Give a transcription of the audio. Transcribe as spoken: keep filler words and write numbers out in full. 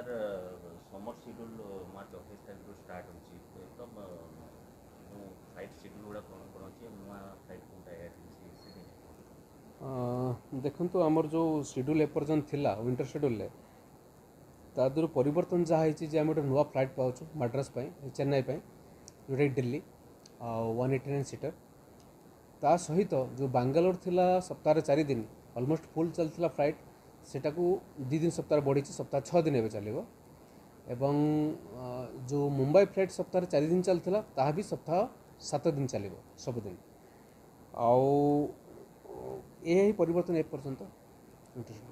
sir ସମର schedule March ଅଠେଇଶ ତାରିଖରୁ start ହେଉଛି ତ ଯେଉଁ ଫ୍ଲାଇଟ୍ ସିଡ୍ୟୁଲ୍ ଗୁଡ଼ା କ'ଣ କ'ଣ ଅଛି ନୂଆ ଫ୍ଲାଇଟ୍ କେଉଁଟା ଆଡ଼୍ ହେଇଛି ସେଠି ଦେଖନ୍ତୁ ଆମର ଯେଉଁ ସିଡ୍ୟୁଲ୍ ଏପର୍ଯ୍ୟନ୍ତ ଥିଲା ୱିଣ୍ଟର ସିଡ୍ୟୁଲ୍ରେ ତା ଦେହରୁ ପରିବର୍ତ୍ତନ ଯାହା ହେଇଛି ଯେ ଆମେ ଗୋଟେ ନୂଆ ଫ୍ଲାଇଟ୍ ପାଉଛୁ ମାଡ୍ରାସ ପାଇଁ ଚେନ୍ନାଇ ପାଇଁ ଯେଉଁଟାକି ଦିଲ୍ଲୀ ଆଉ ୱାନ୍ ଏଇଟି ନାଇନ୍ ସିଟର୍ ତା ସହିତ ଯେଉଁ ବାଙ୍ଗାଲୋର ଥିଲା ସପ୍ତାହରେ ଚାରି ଦିନ ଅଲମୋଷ୍ଟ ଫୁଲ୍ ଚାଲିଥିଲା ଫ୍ଲାଇଟ୍ ସେଟାକୁ ଦୁଇ ଦିନ ସପ୍ତାହରେ ବଢ଼ିଛି ସପ୍ତାହ ଛଅ ଦିନ ଏବେ ଚାଲିବ ଏବଂ ଯେଉଁ ମୁମ୍ବାଇ ଫ୍ଲାଇଟ୍ ସପ୍ତାହରେ ଚାରି ଦିନ ଚାଲିଥିଲା ତାହା ବି ସପ୍ତାହ ସାତ ଦିନ ଚାଲିବ ସବୁଦିନ ଆଉ ଏହା ହିଁ ପରିବର୍ତ୍ତନ ଏପର୍ଯ୍ୟନ୍ତ ୱିଣ୍ଟର